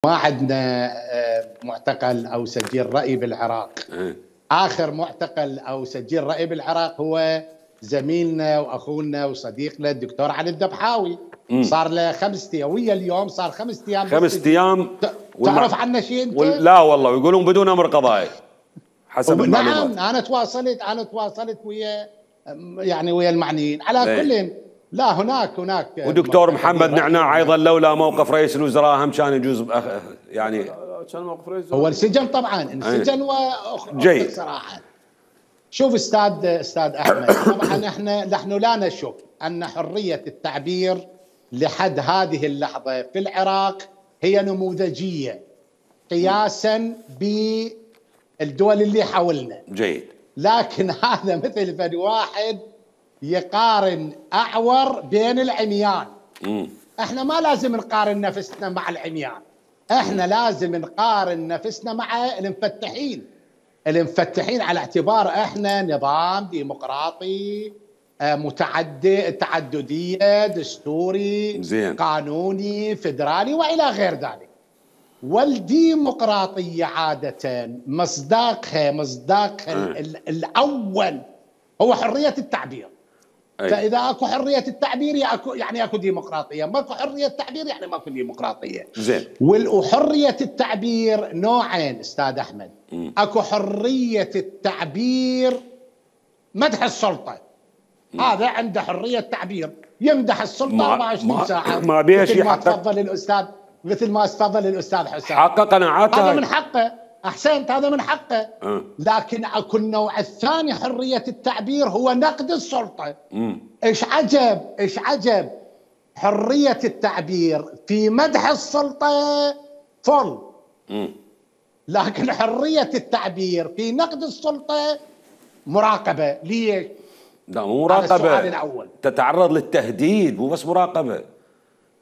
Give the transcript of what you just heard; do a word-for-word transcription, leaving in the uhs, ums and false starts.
ما عندنا معتقل او سجين رأي بالعراق. اخر معتقل او سجين رأي بالعراق هو زميلنا واخونا وصديقنا الدكتور علي الذبحاوي. صار له خمس ايام ويا اليوم صار خمس ايام خمس ايام تعرف عنه شيء انت؟ لا والله، ويقولون بدون امر قضائي حسب المعلومات. نعم، انا تواصلت انا تواصلت ويا يعني ويا المعنيين على كل. لا هناك هناك ودكتور محمد نعناع ايضا لولا موقف رئيس الوزراء هم كان يجوز يعني كان موقف رئيس هو انسجن طبعا انسجن جيد صراحه. شوف استاذ استاذ احمد، طبعا احنا نحن لا نشك ان حريه التعبير لحد هذه اللحظه في العراق هي نموذجيه قياسا بالدول اللي حولنا. جيد. لكن هذا مثل فد واحد يقارن اعور بين العميان. مم. احنا ما لازم نقارن نفسنا مع العميان، احنا لازم نقارن نفسنا مع المفتحين المفتحين على اعتبار احنا نظام ديمقراطي متعدد تعدديه دستوري زين. قانوني فدرالي والى غير ذلك. والديمقراطيه عاده مصداقها مصداقها الاول هو حريه التعبير. أي. فاذا اكو حريه التعبير يعني اكو ديمقراطيه، ماكو حريه تعبير يعني ماكو ديمقراطيه. زين. وحريه التعبير نوعين استاذ احمد. م. اكو حريه التعبير مدح السلطه. م. هذا عنده حريه تعبير، يمدح السلطه أربعة وعشرين ساعه. ما بيها شيء. مثل ما تفضل الاستاذ مثل ما تفضل الاستاذ حسام. حقق قناعاته. هذا من حقه، احسنت، هذا من حقه. أه. لكن اكو النوع الثاني حريه التعبير هو نقد السلطه. امم ايش عجب ايش عجب حريه التعبير في مدح السلطه فل. امم لكن حريه التعبير في نقد السلطه مراقبه. ليش؟ لا مو مراقبه، السؤال الاول تتعرض للتهديد، مو بس مراقبه.